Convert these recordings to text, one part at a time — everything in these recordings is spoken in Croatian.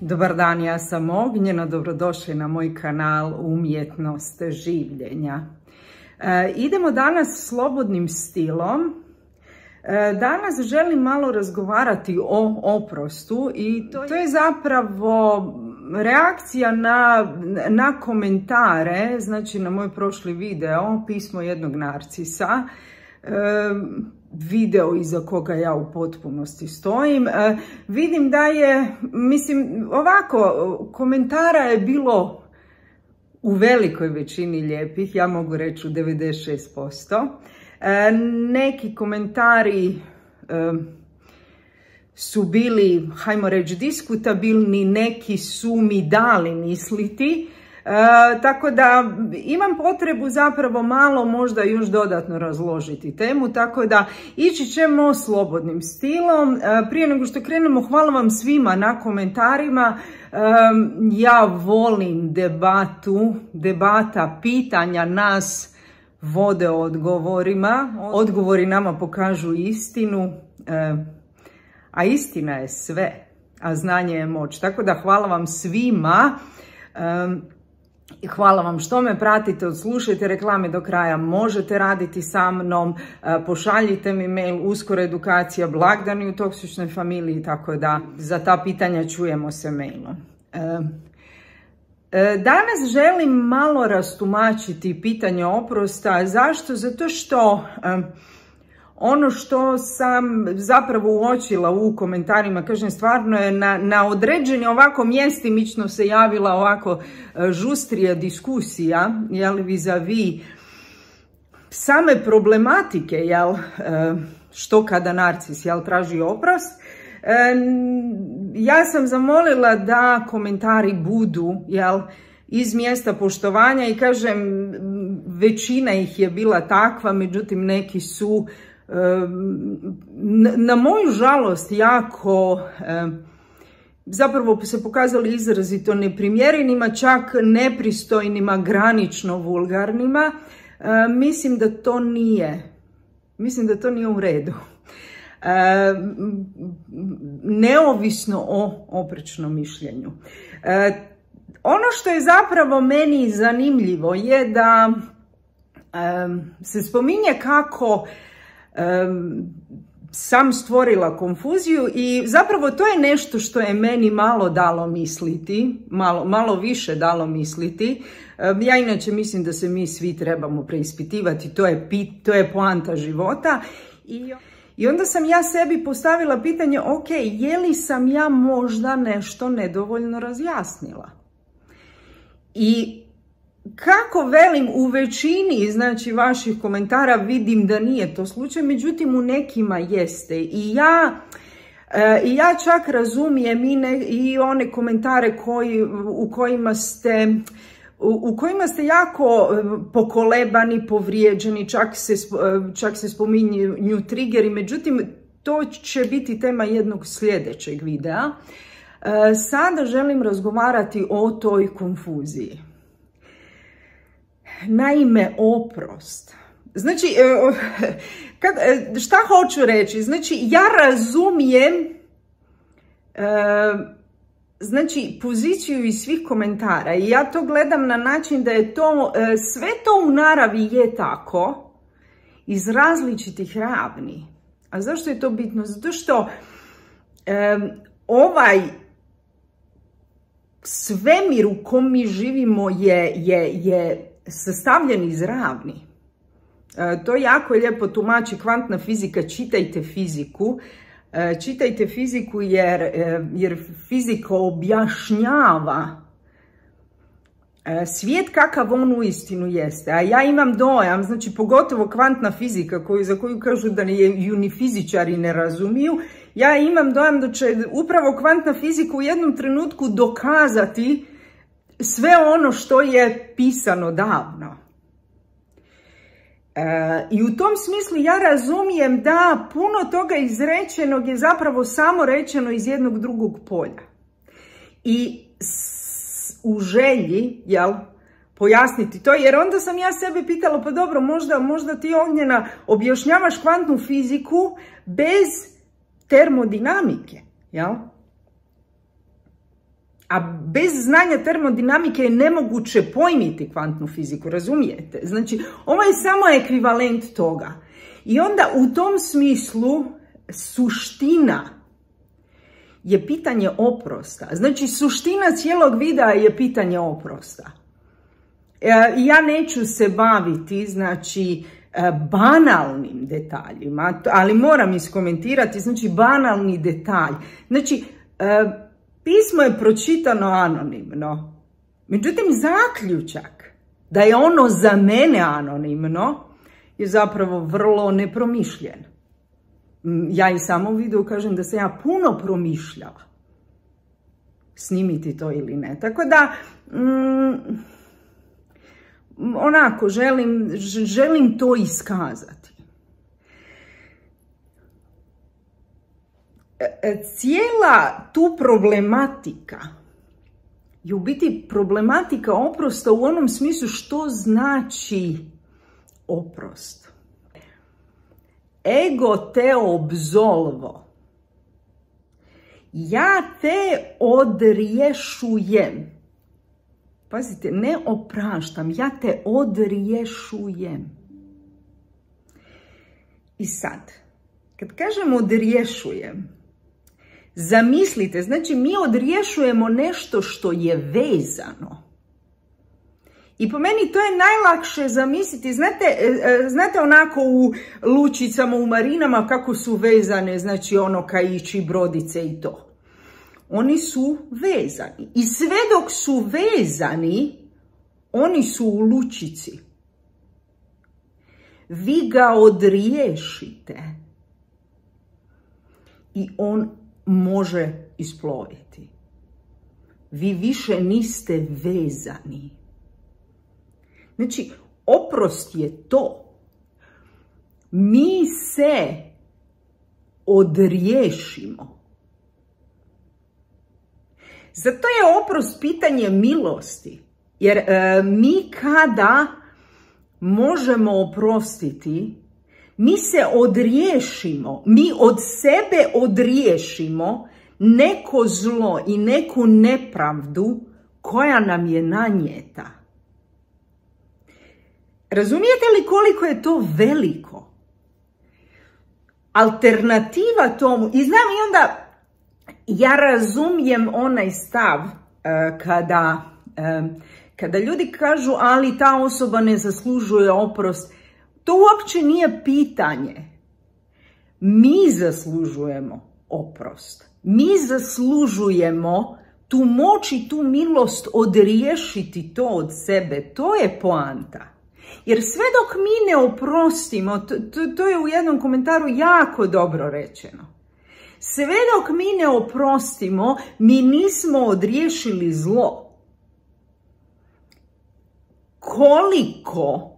Dobar dan, ja sam Ognjena, dobrodošli na moj kanal Umjetnost življenja. Idemo danas slobodnim stilom. Danas želim malo razgovarati o oprostu i to je zapravo reakcija na komentare, znači na moj prošli video, pismo jednog narcisa, video iza koga ja u potpunosti stojim. Vidim da je, ovako, komentara je bilo u velikoj većini lijepih, ja mogu reći u 96%. Neki komentari su bili, hajmo reći, diskutabilni, neki su mi dali misliti. Tako da imam potrebu zapravo malo možda još dodatno razložiti temu, tako da ići ćemo slobodnim stilom. Prije nego što krenemo, hvala vam svima na komentarima. Ja volim debata, pitanja nas vode odgovorima. Odgovori nama pokažu istinu, a istina je sve, a znanje je moć. Tako da hvala vam svima. Hvala vam što me pratite, odslušajte reklame do kraja, možete raditi sa mnom, pošaljite mi mail, uskoro edukacija, blagdani u toksičnoj familiji, tako da za ta pitanja čujemo se mailom. Danas želim malo rastumačiti pitanje oprosta. Zašto? Zato što ono što sam zapravo uočila u komentarima, kažem, stvarno je na određeni ovako mjestimično se javila ovako žustrija diskusija, jel, vis-a-vis same problematike, jel, što kada narcis, jel, traži oprost. Ja sam zamolila da komentari budu, jel, iz mjesta poštovanja i kažem, većina ih je bila takva, međutim neki su na moju žalost jako zapravo se pokazali izrazito neprimjerenima, čak nepristojnima, granično vulgarnima. Mislim da to nije u redu. Neovisno o oprečnom mišljenju. Ono što je zapravo meni zanimljivo je da se spominje kako sam stvorila konfuziju i zapravo to je nešto što je meni malo dalo misliti, malo više dalo misliti. Ja inače mislim da se mi svi trebamo preispitivati, to je poanta života. I onda sam ja sebi postavila pitanje, ok, je li sam ja možda nešto nedovoljno razjasnila? I kako velim, u većini, znači, vaših komentara vidim da nije to slučaj, međutim u nekima jeste. I ja čak razumijem i one komentare u kojima ste jako pokolebani, povrijeđeni, čak se spominju triggeri, međutim to će biti tema jednog sljedećeg videa. Sada želim razgovarati o toj konfuziji. Naime, oprost. Znači, šta hoću reći? Znači, ja razumijem znači, poziciju iz svih komentara i ja to gledam na način da je to, sve to u naravi je tako, iz različitih ravni. A zašto je to bitno? Zato što ovaj svemir u kom mi živimo je sastavljen iz ravni. To jako lijepo tumači kvantna fizika, čitajte fiziku. Čitajte fiziku jer fizika objašnjava svijet kakav on uistinu jeste. A ja imam dojam, znači pogotovo kvantna fizika za koju kažu da ju ni fizičari ne razumiju, ja imam dojam da će upravo kvantna fizika u jednom trenutku dokazati sve ono što je pisano davno. I u tom smislu ja razumijem da puno toga izrečenog je zapravo samo rečeno iz jednog drugog polja. I u želji, jel, pojasniti to, jer onda sam ja sebe pitala, pa dobro, možda ti, Ognjena, objašnjavaš kvantnu fiziku bez termodinamike, jel? A bez znanja termodinamike je nemoguće pojmiti kvantnu fiziku, razumijete? Znači, ovo je samo ekvivalent toga. I onda u tom smislu suština je pitanje oprosta. Znači, suština cijelog videa je pitanje oprosta. Ja neću se baviti, znači, banalnim detaljima, ali moram iskomentirati, znači, banalni detalj. Znači, pismo je pročitano anonimno. Međutim, zaključak da je ono za mene anonimno je zapravo vrlo nepromišljen. Ja i samo u videu kažem da sam ja puno promišljala snimiti to ili ne. Tako da, onako, želim to iskazati. Cijela tu problematika je u biti problematika oprosta u onom smislu što znači oprost. Ego te absolvo. Ja te odriješujem. Pazite, ne opraštam, ja te odriješujem. I sad, kad kažem odriješujem, zamislite, znači mi odriješujemo nešto što je vezano. I po meni to je najlakše zamisliti, znate onako u lučicama, u marinama kako su vezane, znači ono kaići, brodice i to. Oni su vezani i sve dok su vezani, oni su u lučici. Vi ga odriješite i on može isploviti. Vi više niste vezani. Znači, oprost je to. Mi se odriješimo. Zato je oprost pitanje milosti. Jer mi kada možemo oprostiti, mi se odriješimo, mi od sebe odriješimo neko zlo i neku nepravdu koja nam je nanijeta. Razumijete li koliko je to veliko? Alternativa tomu, i znam i onda ja razumijem onaj stav kada ljudi kažu ali ta osoba ne zaslužuje oprost. To uopće nije pitanje. Mi zaslužujemo oprost. Mi zaslužujemo tu moć i tu milost odriješiti to od sebe. To je poanta. Jer sve dok mi ne oprostimo, to je u jednom komentaru jako dobro rečeno. Sve dok mi ne oprostimo, mi nismo odriješili zlo. Koliko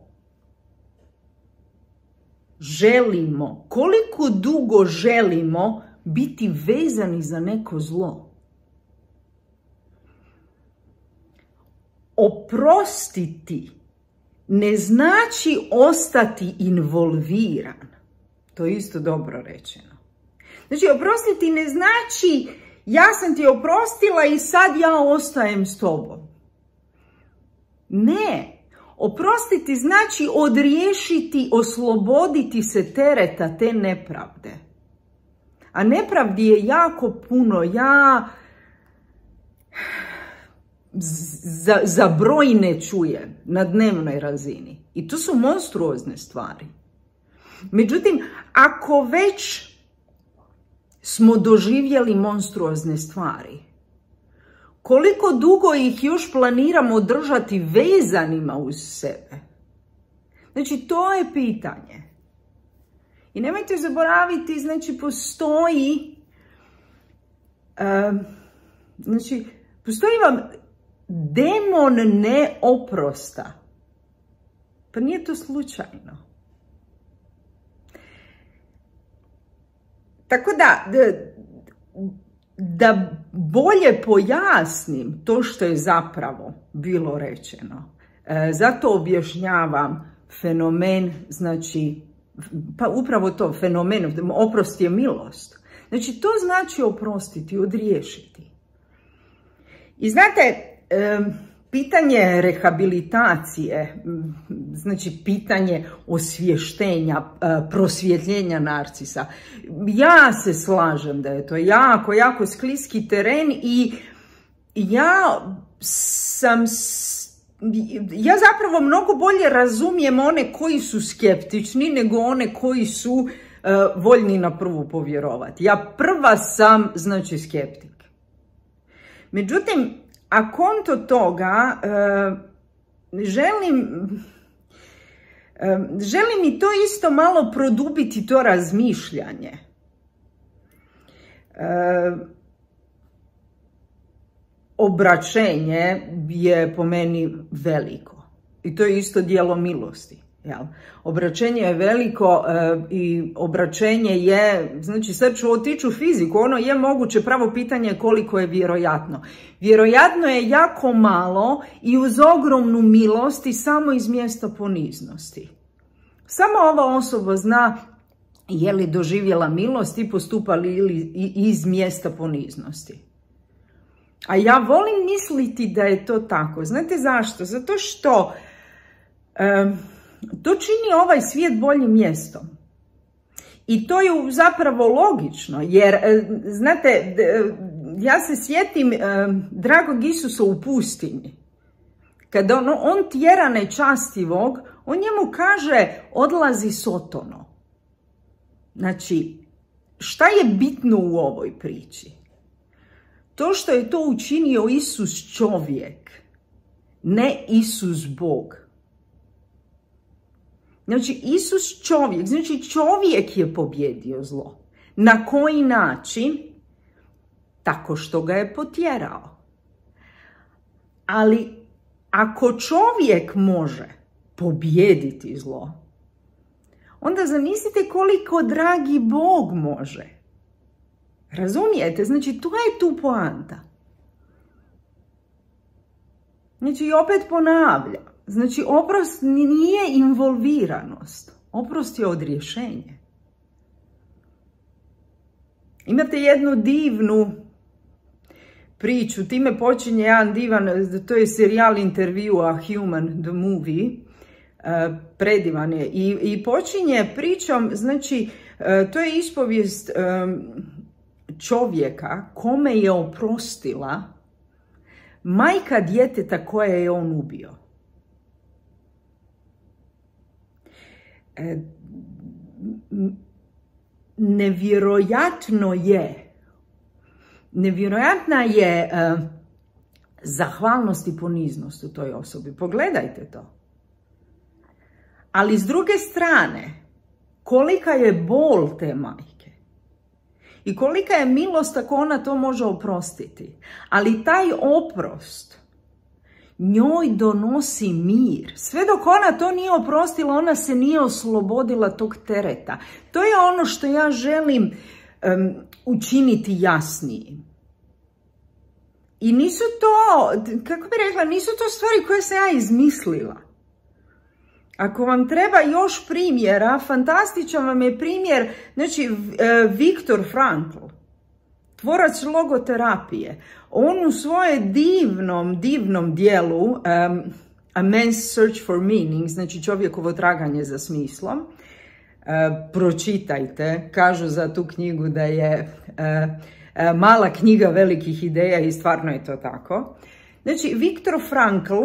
želimo, koliko dugo želimo biti vezani za neko zlo? Oprostiti ne znači ostati involviran. To je isto dobro rečeno. Znači, oprostiti ne znači ja sam ti oprostila i sad ja ostajem s tobom. Ne. Oprostiti znači odriješiti, osloboditi se tereta te nepravde. A nepravdi je jako puno. Ja za broj ne čujem na dnevnoj razini. I to su monstruozne stvari. Međutim, ako već smo doživjeli monstruozne stvari, koliko dugo ih još planiramo držati vezanima uz sebe? Znači, to je pitanje. I nemojte zaboraviti, znači, postoji vam demon neoprosta. Pa nije to slučajno. Tako da bolje pojasnim to što je zapravo bilo rečeno. Zato objašnjavam fenomen, znači, pa upravo to, fenomen, oprost je milost. Znači, to znači oprostiti, odriješiti. I znate, pitanje rehabilitacije, znači pitanje osvještenja, prosvjetljenja narcisa, ja se slažem da je to jako, jako skliski teren i ja zapravo mnogo bolje razumijem one koji su skeptični nego one koji su voljni na prvu povjerovati. Ja prva sam, znači, skeptik. Međutim, a konto toga želim i to isto malo produbiti, to razmišljanje. Obraćenje je po meni veliko i to je isto djelo milosti. Jel? Obraćenje je veliko i obraćenje je, znači sad ću otići u fiziku, ono je moguće, pravo pitanje je koliko je vjerojatno. Vjerojatno je jako malo i uz ogromnu milost i samo iz mjesta poniznosti. Samo ova osoba zna je li doživjela milost i postupali ili iz mjesta poniznosti. A ja volim misliti da je to tako. Znate zašto? Zato što to čini ovaj svijet boljim mjestom. I to je zapravo logično, jer, znate, ja se sjetim dragog Isusa u pustinji. Kada on tjera nečastivog, on njemu kaže odlazi Sotono. Znači, šta je bitno u ovoj priči? To što je to učinio Isus čovjek, ne Isus Bog. Znači, Isus čovjek, znači čovjek je pobjedio zlo. Na koji način? Tako što ga je potjerao. Ali ako čovjek može pobijediti zlo, onda zamislite koliko dragi Bog može. Razumijete? Znači, to je tu poanta. Znači, i opet ponavljam. Znači, oprost nije involviranost. Oprost je odrješenje. Imate jednu divnu priču. Time počinje jedan divan, to je serijal intervjua Human, the movie. Predivan je. I počinje pričom, znači, to je ispovijest čovjeka kome je oprostila majka djeteta koje je on ubio. Nevjerojatna je zahvalnost i poniznost u toj osobi. Pogledajte to. Ali s druge strane, kolika je bol te majke i kolika je milost ako ona to može oprostiti. Ali taj oprost njoj donosi mir. Sve dok ona to nije oprostila, ona se nije oslobodila tog tereta. To je ono što ja želim učiniti jasnijim. I nisu to, kako bi rekla, nisu to stvari koje sam ja izmislila. Ako vam treba još primjera, fantastičan vam je primjer, znači, Viktor Frankl, tvorac logoterapije. On u svoje divnom dijelu A Man's Search for Meaning, znači čovjekovo traganje za smislom, pročitajte, kažu za tu knjigu da je mala knjiga velikih ideja i stvarno je to tako. Znači, Viktor Frankl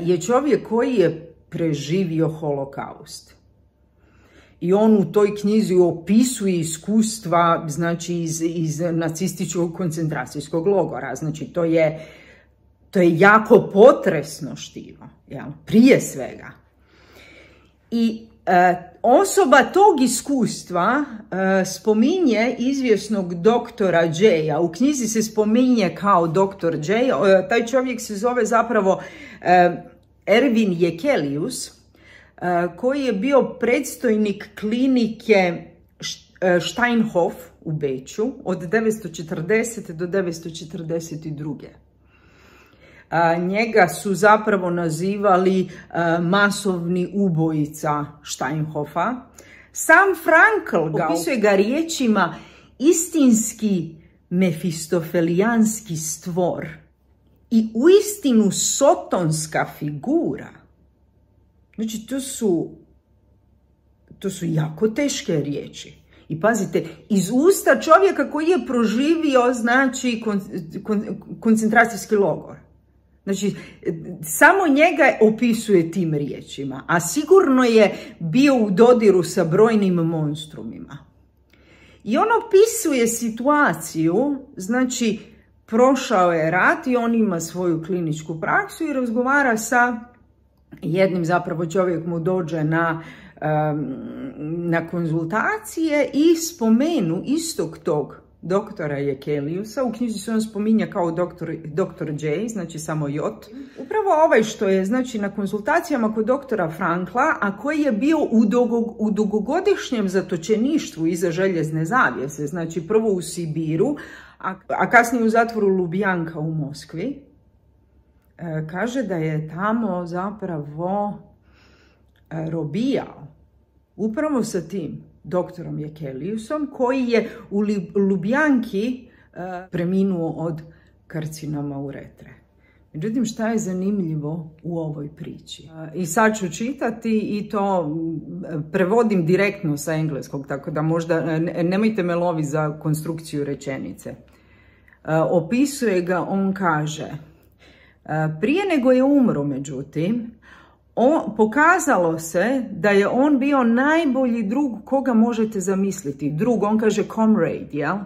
je čovjek koji je preživio holokaust. I on u toj knjizi opisuje iskustva, znači, iz nacističkog koncentracijskog logora. Znači, to je jako potresno štivo, jel? Prije svega. I osoba tog iskustva spominje izvjesnog doktora J-a. U knjizi se spominje kao doktor J. Taj čovjek se zove zapravo Erwin Jekelius, koji je bio predstojnik klinike Steinhof u Beču od 940. do 942. Njega su zapravo nazivali masovni ubojica Steinhofa. Sam Frankl opisuje ga riječima istinski mefistofelijanski stvor i uistinu sotonska figura. Znači, to su jako teške riječi. I pazite, iz usta čovjeka koji je proživio, znači, koncentracijski logor. Znači, samo njega opisuje tim riječima, a sigurno je bio u dodiru sa brojnim monstrumima. I on opisuje situaciju, znači, prošao je rat i on ima svoju kliničku praksu i razgovara sa jednim, zapravo čovjek mu dođe na konzultacije i spomenu istog tog doktora Jekeliusa. U knjizi se on spominja kao doktor J, znači samo J. Upravo ovaj što je, znači, na konzultacijama kod doktora Frankla, a koji je bio u dugogodišnjem zatočeništvu iza željezne zavjese, znači prvo u Sibiru, a kasnije u zatvoru Lubjanka u Moskvi, kaže da je tamo zapravo robijao upravo sa tim doktorom Jekeliusom, koji je u Lubjanki preminuo od karcinoma uretre. Međutim, šta je zanimljivo u ovoj priči? I sad ću čitati i to prevodim direktno sa engleskog, tako da možda nemojte me loviti za konstrukciju rečenice. Opisuje ga, on kaže: prije nego je umro, međutim, pokazalo se da je on bio najbolji drug koga možete zamisliti. Drug, on kaže comrade, jel?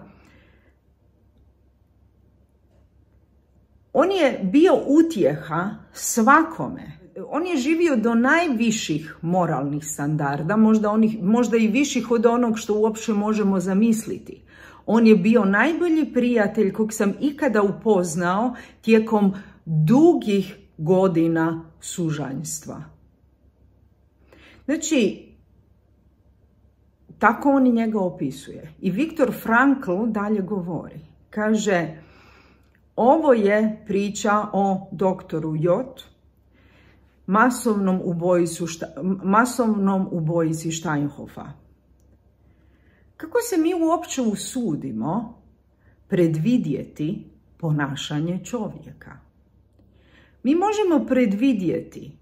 On je bio utjeha svakome. On je živio do najviših moralnih standarda, možda i viših od onog što uopće možemo zamisliti. On je bio najbolji prijatelj kog sam ikada upoznao tijekom dugih godina sužanjstva. Znači, tako on i njega opisuje. I Viktor Frankl dalje govori. Kaže, ovo je priča o doktoru J, masovnom ubojici Steinhoffa. Kako se mi uopće usudimo predvidjeti ponašanje čovjeka? Mi možemo predvidjeti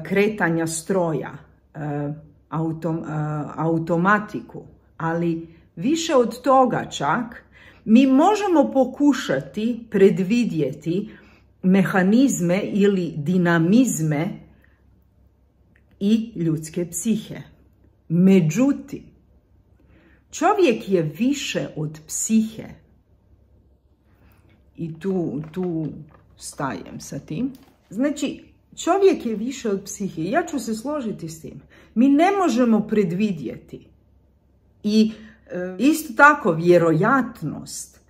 kretanja stroja, automatiku, ali više od toga čak mi možemo pokušati predvidjeti mehanizme ili dinamizme i ljudske psihe. Međutim, čovjek je više od psihe. I tu stajem sa tim. Znači, čovjek je više od psihe. Ja ću se složiti s tim. Mi ne možemo predvidjeti. I isto tako vjerojatnost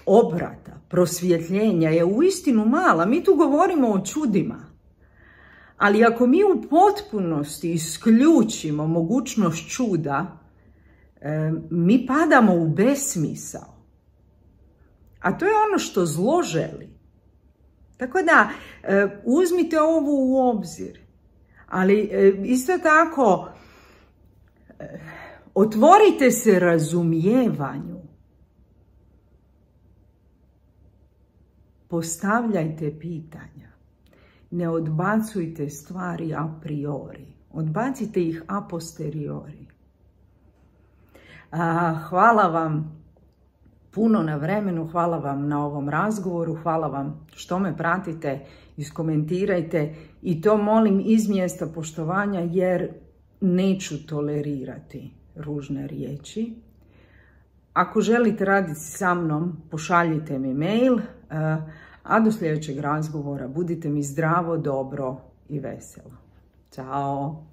obrata, prosvjetljenja je uistinu mala. Mi tu govorimo o čudima. Ali ako mi u potpunosti isključimo mogućnost čuda, mi padamo u besmisao. A to je ono što zlo želi. Tako da, uzmite ovo u obzir. Ali isto tako, otvorite se razumijevanju. Postavljajte pitanja. Ne odbacujte stvari a priori. Odbacite ih a posteriori. Hvala vam puno na vremenu, hvala vam na ovom razgovoru, hvala vam što me pratite, iskomentirajte i to molim iz mjesta poštovanja jer neću tolerirati ružne riječi. Ako želite raditi sa mnom, pošaljite mi mail, a do sljedećeg razgovora budite mi zdravo, dobro i veselo. Ćao!